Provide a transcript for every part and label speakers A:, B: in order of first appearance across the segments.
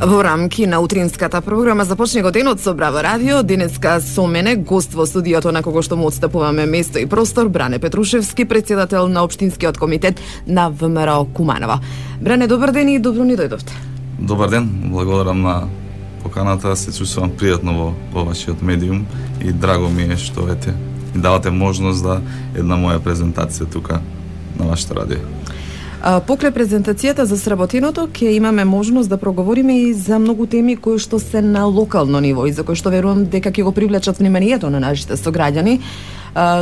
A: Во рамки на утринската програма започне го денот со Браво радио. Денеска со мене гост во студиото на кого што му отстапуваме место и простор, Бране Петрушевски, председател на општинскиот комитет на ВМРО Куманово. Бране, добар ден и добро ни дојдовте.
B: Добар ден, благодарам на поканата, се чувствувам пријатно во вашиот медиум и драго ми е што ми давате можност да една моја презентација тука на вашето радио.
A: Покрај презентацијата за сработеното, ќе имаме можност да проговориме и за многу теми кои што се на локално ниво и за кои што верувам дека ќе го привлечат вниманието на нашите сограѓани,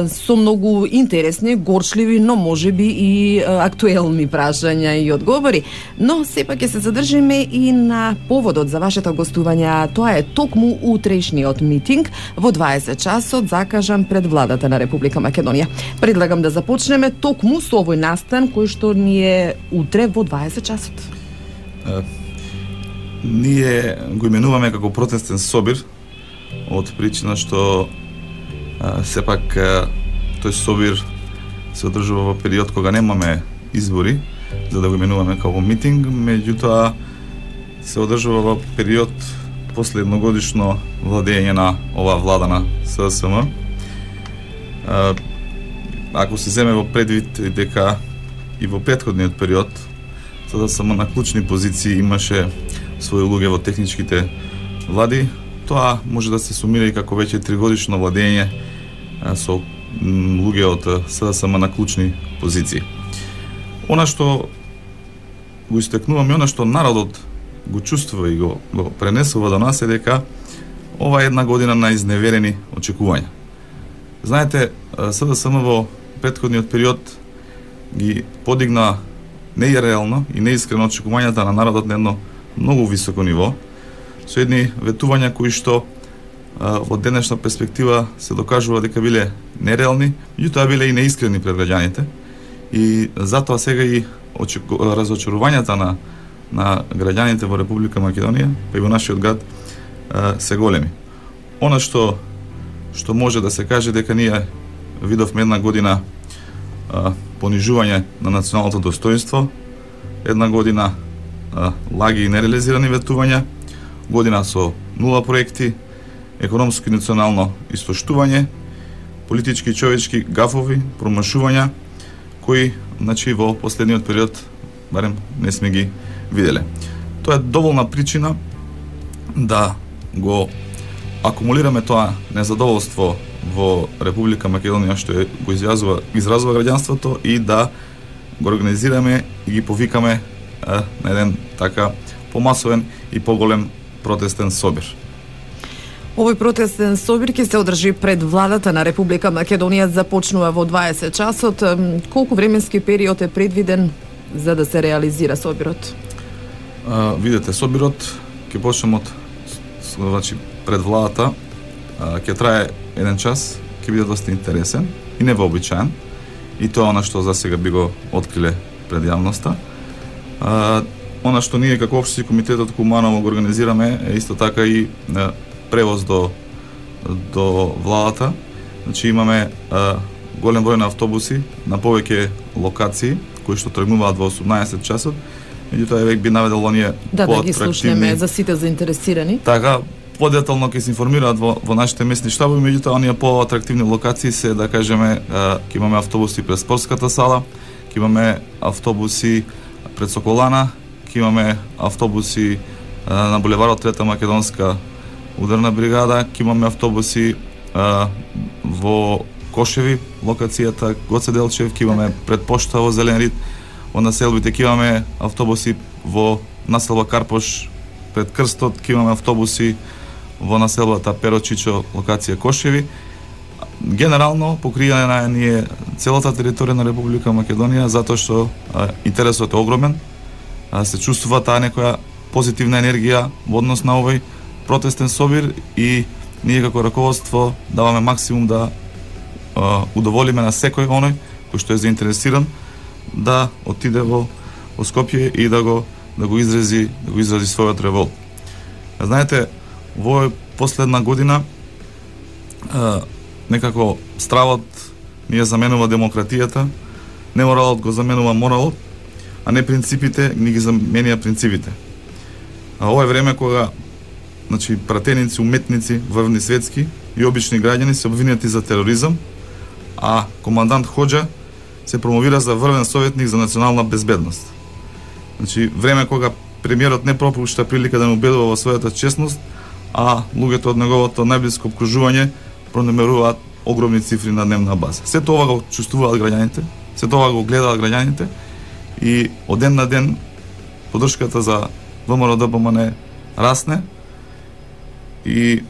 A: со многу интересни, горчливи, но можеби и актуелни прашања и одговори. Но сепак ќе се задржиме и на поводот за вашето гостување. Тоа е токму утрешниот митинг во 20 часот закажан пред владата на Република Македонија. Предлагам да започнеме токму со овој настан кој што ни е утре во 20 часот.
B: Ние го именуваме како протестен собир од причина што сепак тој собир се одржува во период кога немаме избори, за да го именуваме како митинг, меѓутоа се одржува во период после едногодишно владење на оваа влада на СДСМ. Ако се земе во предвид дека и во претходниот период СДСМ на клучни позиции имаше своји луѓе во техничките влади, тоа може да се сумира и како веќе 3-годишно владење со луѓе од СДСМ на клучни позиции. Она што го истекнуваме, она што народот го чувствува и го пренесува до нас е дека ова е една година на изневерени очекувања. Знаете, СДСМ во претходниот период ги подигна нереално и неискрено очекувањата на народот на едно многу високо ниво, со едни ветувања кои што во денешна перспектива се докажува дека биле нереални, меѓутоа биле и неискрени пред граѓаните. И затоа сега и разочарувањата на граѓаните во Република Македонија, па и во нашиот град, се големи. Она што може да се каже дека ние видовме една година понижување на националното достоинство, една година лаги и нереализирани ветувања, година со нула проекти, економско и национално истоштување, политички и човечки гафови, промашувања, кои во последниот период барем не сме ги виделе. Тоа е доволна причина да го акумулираме тоа незадоволство во Република Македонија што го изразува граѓанството и да го организираме и ги повикаме на еден така помасовен и поголем протестен собир.
A: Овој протестен собир ќе се одржи пред владата на Република Македонија, започнува во 20 часот. Колку временски период е предвиден за да се реализира собирот?
B: Видете, собирот ќе почнеме пред владата, ќе трае 1 час, ќе биде доста интересен и невообичаен. И тоа она што за сега би го откриле пред јавноста. Она што ние како општи комитетот Куманово го организираме е исто така и превоз до владата. Значи имаме голем број на автобуси на повеќе локации кои што тргнуваат во 18 часот. Меѓутоа веќе би наведело ние
A: да ги слушнеме за сите заинтересирани.
B: Така подетално ќе се информираат во нашите местни штабови, меѓутоа оние поатрактивни локации се, да кажеме, ќе имаме автобуси пред спортската сала, ќе имаме автобуси пред Соколана, ќе имаме автобуси на булеварот Трета македонска ударна бригада, ќе имаме автобуси во Кошеви, локацијата Гоце Делчев, ќе имаме пред пошта во Зелен Рид, во населбите ќе имаме автобуси во населба Карпош, пред Крстот, ќе имаме автобуси во населбата Перочичо, локација Кошеви. Генерално покриена е целата територија на Република Македонија, затоа што интересот е огромен, се чувствува таа некоја позитивна енергија во однос на овој протестен собир и ние како раководство даваме максимум да удоволиме на секој оној кој што е заинтересиран да отиде во Скопје и да го изрази својот револт. Знаете, во последна година некако стравот ни ја заменува демократијата, неморалот го заменува моралот, а не принципите ни ги заменија принципите. Ова е време кога значи пратеници, уметници, врвни светски и обични граѓани се обвинети за тероризам, а командант Хоџа се промовира за врвен советник за национална безбедност. Значи време кога премиерот не пропушта прилика да не убедува во својата честност, а луѓето од неговото најблиско обкружување пронемеруваат огромни цифри на дневна база. Се тоа го чувствуваат граѓаните, се тоа го гледаат граѓаните и од ден на ден поддршката за ВМРО-ДПМН расне и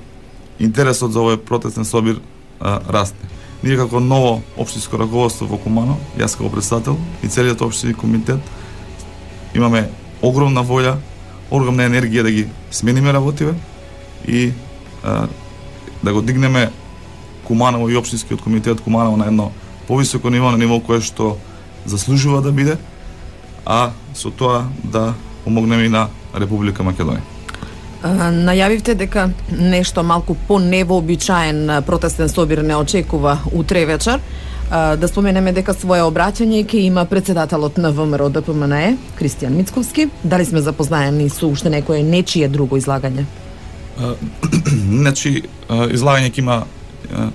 B: интересот за овој протестен собир расне. Ние како ново општинско раководство во Куманово, јас како претседател и целиот општински комитет имаме огромна волја, огромна енергија да ги смениме работиве и да го дигнеме Куманово и општинскиот комитет Куманово на едно повисоко ниво, на ниво кое што заслужува да биде, а со тоа да помогнеме и на Република Македонија.
A: Најавивте дека нешто малку по-невообичаен протестен собир не очекува утре вечер. Да споменеме дека своје обраќање ќе има председателот на ВМРО-ДПМН Кристијан Мицковски. Дали сме запознаени со уште некое нечие друго излагање?
B: Значи, излагање ќе има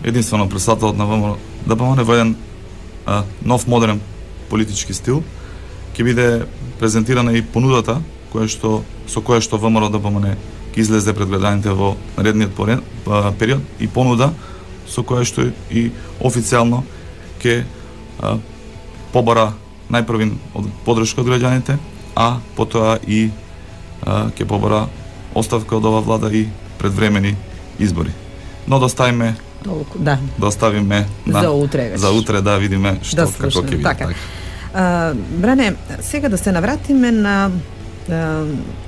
B: единствено председателот на ВМРО-ДПМН во еден нов модерен политички стил. Ќе биде презентирана и понудата со која што ВМРО-ДПМН ќе излезе пред граѓаните во наредниот период и понуда со која што и официјално ќе побара најпрвин поддршка од граѓаните, а потоа и ќе побара оставка од ова влада и предвремени избори. Но доставиме за утре да видиме што како ќе биде.
A: Така. Бране, сега да се навратиме на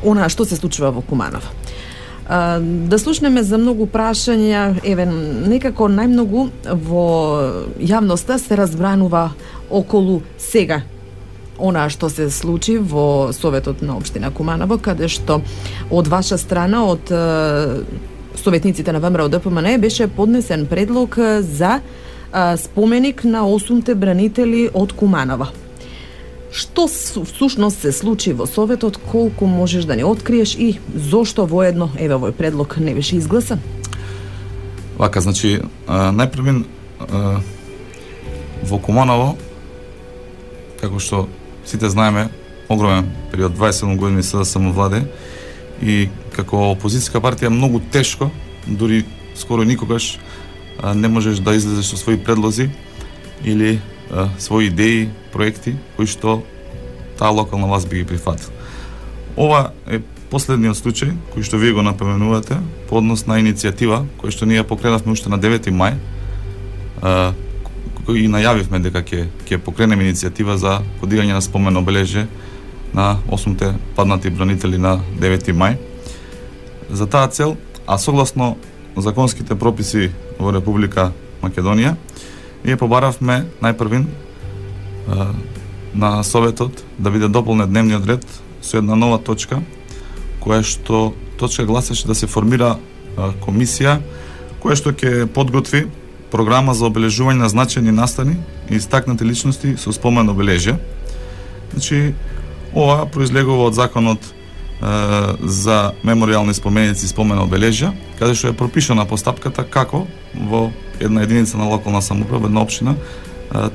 A: она што се случува во Куманово. Да слушнеме за многу прашања, некако најмногу во јавноста се разбранува околу сега она што се случи во Советот на општина Куманово, каде што од ваша страна, од советниците на ВМРО-ДПМН беше поднесен предлог за споменик на 8 бранители од Куманово. Што всушност се случи во Советот, колку можеш да не откриеш и зошто воедно овој предлог не беше изгласан?
B: Вака, значи, најпрвин во Куманово, како што сите знаеме, огромен период, 27 години СДСМ владе и како опозицијска партија многу тешко, дури скоро никогаш не можеш да излезеш со своји предлози или своји идеи, проекти кои што таа локална власт би ги прифатила. Ова е последниот случај кој што вие го напоменувате по однос на иницијатива која што ние покренавме уште на 9 мај и најавивме дека ќе покренеме иницијатива за подигање на спомен обележје на 8 паднати бранители на 9 мај. За таа цел, а согласно законските прописи во Република Македонија, ние побаравме најпрвин на Советот да биде дополнет дневниот ред со една нова точка, која што точка гласеше да се формира комисија која што ќе подготви програма за обележување на значајни настани и истакнати личности со спомен обележје. Значи, ова произлегува од законот за меморијални споменици и спомен обележја, каде што е пропишана постапката како во една единица на локална самоуправа, една општина,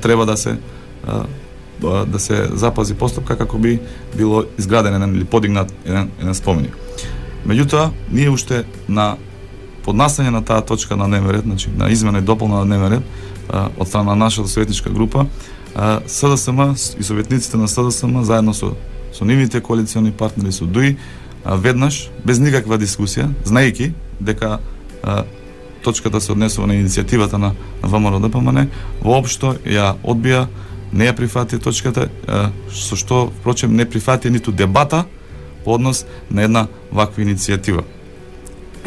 B: треба да се запази постапка како би било изграден или подигнат еден споменик. Меѓутоа, ние уште на поднасање на таа точка на дневен ред, значи на измена и дополна на дневен ред од страна на нашата советничка група, СДСМ и советниците на СДСМ заедно со нивните коалициони партнери со ДУИ веднаш без никаква дискусија, знаејќи дека точката се однесува на иницијативата на ВМРО-ДПМН, воопшто ја одбија, не ја прифати точката, со што впрочем не прифати ниту дебата по однос на една ваква иницијатива.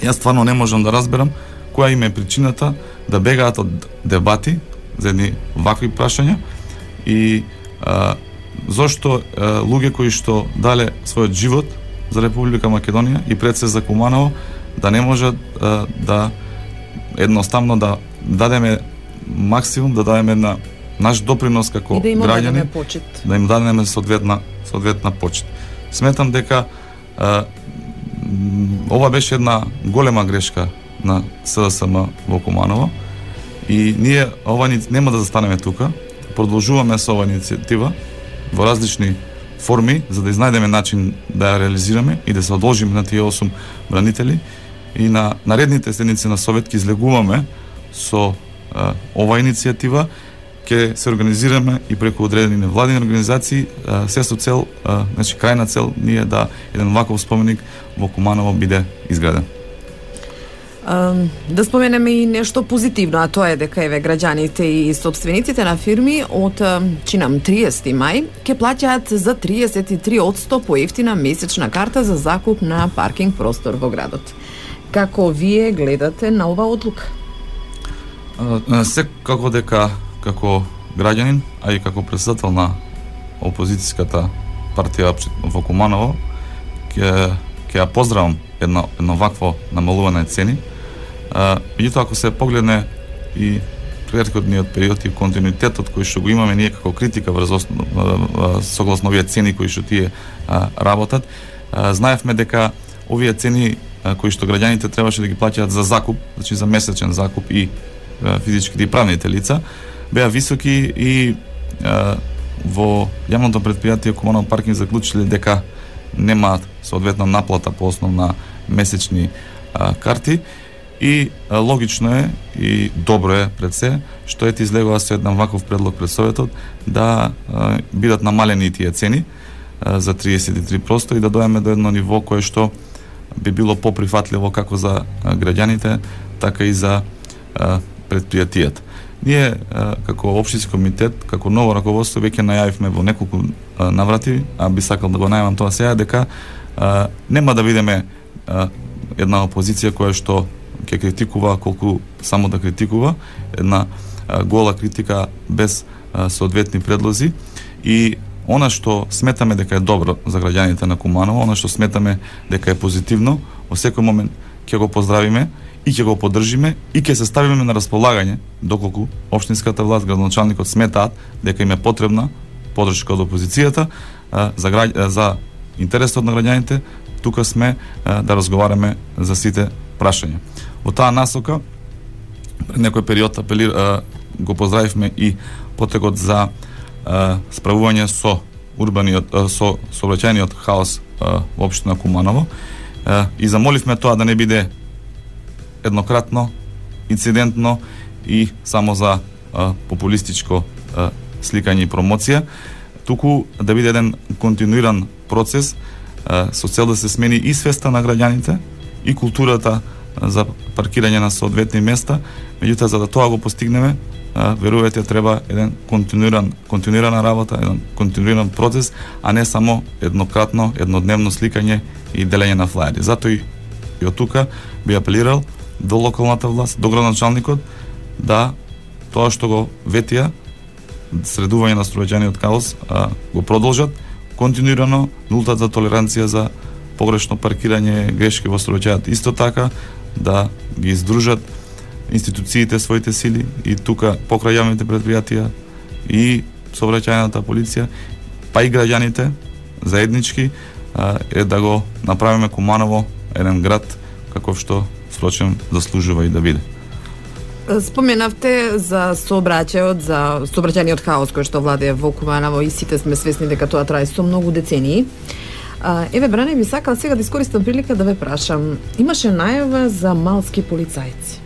B: Јас стварно не можам да разберам која им е причината да бегаат од дебати за едни вакви прашања и зошто луѓе кои што дале својот живот за Република Македонија и пред се за Куманово да не можат да едноставно да дадеме максимум, да дадеме на наш допринос како граѓани, да им дадеме соодветна почит. Сметам дека ова беше една голема грешка на СДСМ во Куманово и ние нема да застанеме тука, продолжуваме со оваа иницијатива во различни форми за да изнајдеме начин да ја реализираме и да се одолжиме на тие 8 бранители и на наредните седници на Совет ќе излегуваме со оваа иницијатива, ќе се организираме и преку одредени невладини организации, се со цел, значи крајна цел ние да еден ваков споменик во Куманово биде изграден.
A: Да споменеме и нешто позитивно, а тоа е дека еве граѓаните и собствениците на фирми од чинам 30 мај ќе плаќаат за 33% поевтина месечна карта за закуп на паркинг простор во градот. Како вие гледате на оваа одлука?
B: Секако дека како граѓанин, а и како претседател на опозицијската партија во Куманово, ќе ја поздравам едно вакво намалување цени. Меѓутоа, ако се погледне и претходниот период и континуитетот кој што го имаме ние како критика согласно овие цени кои што тие работат, знаевме дека овие цени кои што граѓаните требаше да ги плаќаат за закуп, значи за месечен закуп и физичките и правните лица, беа високи и во јавното предпријатие Куманово паркинг заклучиле дека немаат соодветна наплата по основ на месечни карти и логично е и добро е пред се што ете излегува со еден ваков предлог пред Советот да бидат намалени тие цени за 33% и да дојдеме до едно ниво кое што би било поприфатливо како за граѓаните, така и за предпријатијата. Ние како општински комитет, како ново раководство веќе најавивме во неколку наврати, а би сакал да го најавам тоа сега, дека нема да бидеме една опозиција која што ќе критикува колку само да критикува, една гола критика без соодветни предлози и она што сметаме дека е добро за граѓаните на Куманово, она што сметаме дека е позитивно, во секој момент ќе го поздравиме и ќе го поддржиме и ќе се ставиме на располагање доколку општинската власт, градоначалникот сметаат дека им е потребна поддршка од опозицијата за интересот на граѓаните. Тука сме да разговараме за сите прашања. Во таа насока пред некој период го поздравивме и потегот за справување со со сообраќајниот хаос во општина Куманово и замоливме тоа да не биде еднократно, инцидентно и само за популистичко сликање и промоција, туку да биде еден континуиран процес со цел да се смени и свеста на граѓаните и културата за паркирање на соодветни места. Меѓутоа, за да тоа го постигнеме, верувајте, треба еден континуирана работа, еден континуиран процес, а не само еднократно, еднодневно сликање и делење на флаери. Затоа и од тука би апелирал до локалната власт, до градоначалникот, да тоа што го ветија, средување на сообраќајниот хаос, го продолжат континуирано, нултата толеранција за погрешно паркирање, грешки во сообраќајот. Исто така да ги издружат институциите своите сили и тука покрај јавните предпријатија и сообраќајната полиција, па и граѓаните заеднички е да го направиме Куманово еден град каков што впрочем заслужува и да биде.
A: Споменавте за сообраќајниот хаос кој што владее во Куманово и сите сме свесни дека тоа трае со многу децении. Еве, Бране, би сакал сега да искористам прилика да ве прашам. Имаше најава за малски полицајци.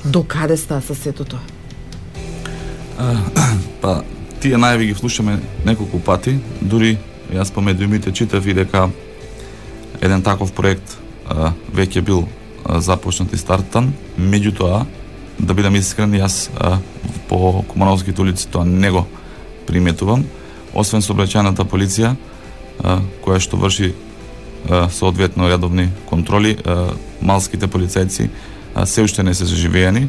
A: До каде ста со сето тоа?
B: Па, тие најави ги слушаме неколку пати, дури јас помеѓу думите читав и дека еден таков проект веќе бил започнат и стартан. Меѓутоа, да бидам искрен, јас по Кумановските улици тоа не го приметувам, освен сообраќајната полиција која што врши соодветно редовни контроли, малските полицајци се уште не се заживеени,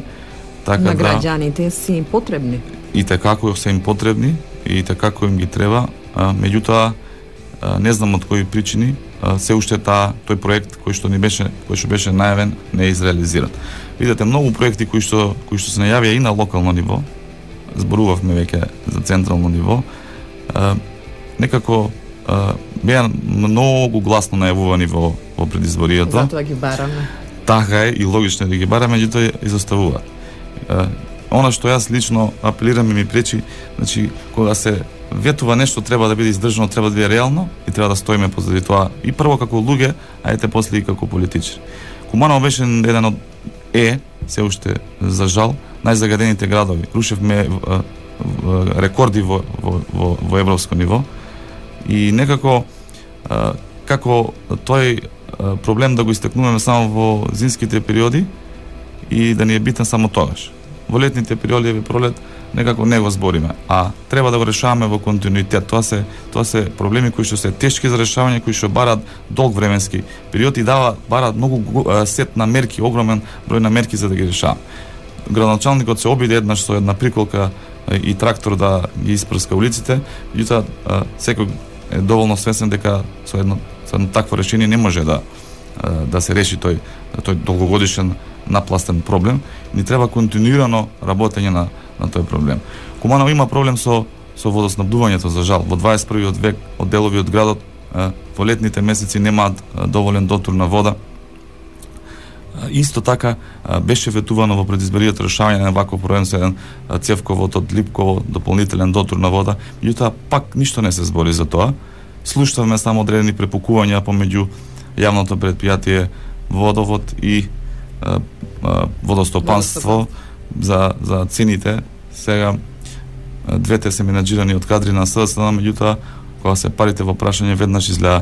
B: така
A: на граѓаните се им потребни.
B: И така како се им потребни и така како им ги треба, меѓутоа не знам од кои причини се уште тој проект кој што беше најавен не е изреализиран. Видете, многу проекти кои што се најавија и на локално ниво, зборувавме веќе за централно ниво, некако беа многу гласно најавувани во предизборието.
A: Затоа ги бараме.
B: Така е и логично да ги бараме, меѓутоа изоставуваат. Она што јас лично апелирам и ми пречи, значи кога се ветува нешто треба да биде издржано, треба да биде реално и треба да стоиме позади тоа и прво како луѓе, а ете после и како политичари. Куманово беше еден од се уште за жал најзагадените градови. Рушевме рекорди во европско ниво и некако како тој проблем да го истакнуваме само во зимските периоди и да ни е битен само тогаш. Во летните периоди и пролет некако не го збориме, а треба да го решаваме во континуитет. Тоа се проблеми кои што се тешки за решавање, кои што бараат долг временски период и бараат многу сет на мерки, огромен број на мерки за да ги решава. Градоначалникот се обиде еднаш со една приколка и трактор да ги испрска улиците, меѓутоа секој е доволно свесен дека со едно такво решение не може да се реши тој долгогодишен напластен проблем. Ни треба континуирано работење на тој проблем. Куманово има проблем со водоснабдувањето, за жал. Во 21. век од делови од градот во летните месеци немаат доволен дотур на вода. Исто така беше ветувано во предизборието решавање на ваков проблем со еден цевковод од Липково дополнителен дотур на вода, меѓутоа пак ништо не се збори за тоа. Слушавме само одредени препукувања помеѓу јавното претпријатие Водовод и водостопанство за цените. Сега двете се менаџирани од кадри на СДСМ, меѓутоа кога се парите во прашање веднаш изгледа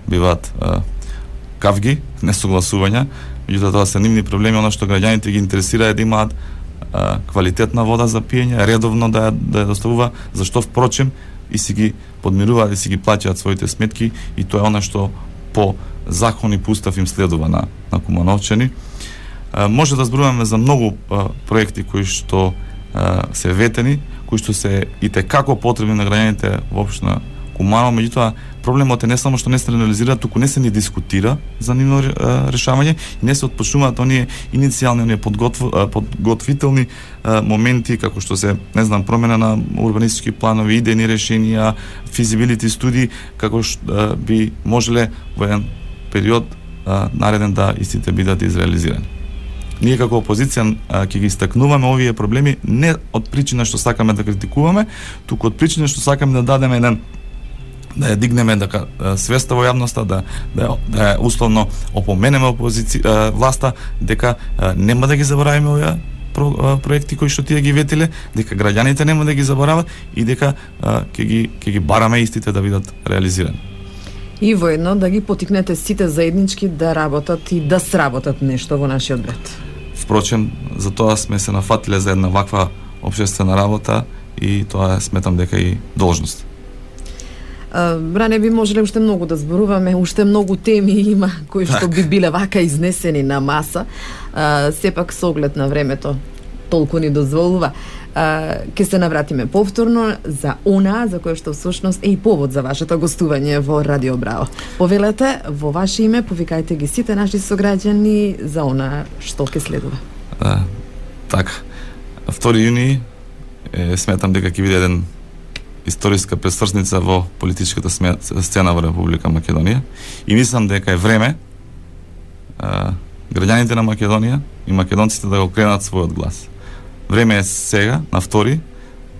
B: биваат кавги, несогласувања. Меѓутоа тоа се нивни проблеми, она што граѓаните ги интересира е да имаат квалитетна вода за пиење, редовно да ја доставува, зашто впрочем и си ги подмируваат и си ги плаќаат своите сметки и тоа е она што по закон и по устав им следува на кумановчани. Може да зборуваме за многу проекти кои што се ветени, кои што се и текако потребни на граѓаните во општина Куманово, меѓутоа проблемот е не само што не се реализира, туку не се ни дискутира за нивно решавање и не се отпочнуваат оние иницијални, оние подготвителни моменти, како што се, не знам, промена на урбанистички планови, идејни решенија, физибилити студии, како што би можеле во еден период нареден да истите бидат изреализирани. Ние како опозиција ќе ги истакнуваме овие проблеми не од причина што сакаме да критикуваме, туку од причина што сакаме да дадеме да ја дигнеме свеста во јавноста, да ја условно опоменеме власта дека нема да ги заборавиме овие проекти кои што тие ги ветиле, дека граѓаните нема да ги заборават и дека ќе ги бараме истите да бидат реализирани.
A: И воедно да ги потикнете сите заеднички да работат и да сработат нешто во нашиот град.
B: Впрочем, за тоа сме се нафатиле за една ваква општествена работа и тоа сметам дека и должност.
A: Ране би можеле уште многу да зборуваме, уште многу теми има кои што би биле вака изнесени на маса. Сепак со оглед на времето толку ни дозволува. Ке се навратиме повторно за она за кое што всушност е и повод за вашето гостување во Радио Браво. Повелете во ваше име, повикајте ги сите наши сограѓани за она што ќе следува.
B: Така. 2 јуни сметам дека ќе биде еден историска пресврсница во политичката сцена во Република Македонија и мислам дека е време граѓаните на Македонија и македонците да го кренат својот глас. Време е сега, на 2,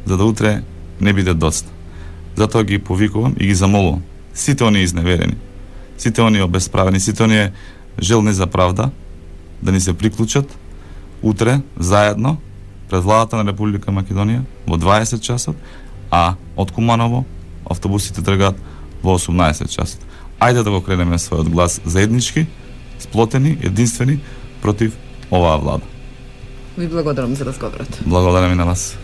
B: за да утре не биде доцна. Затоа ги повикувам и ги замолувам сите оние изневерени, сите оние обесправени, сите оние желни за правда да ни се приклучат утре заедно пред владата на Република Македонија во 20 часот, а од Куманово автобусите тргаат во 18 часот. Ајде да го кренеме својот глас заеднички, сплотени, единствени против оваа влада.
A: Ви благодарам за разговорот.
B: Благодарам и на вас.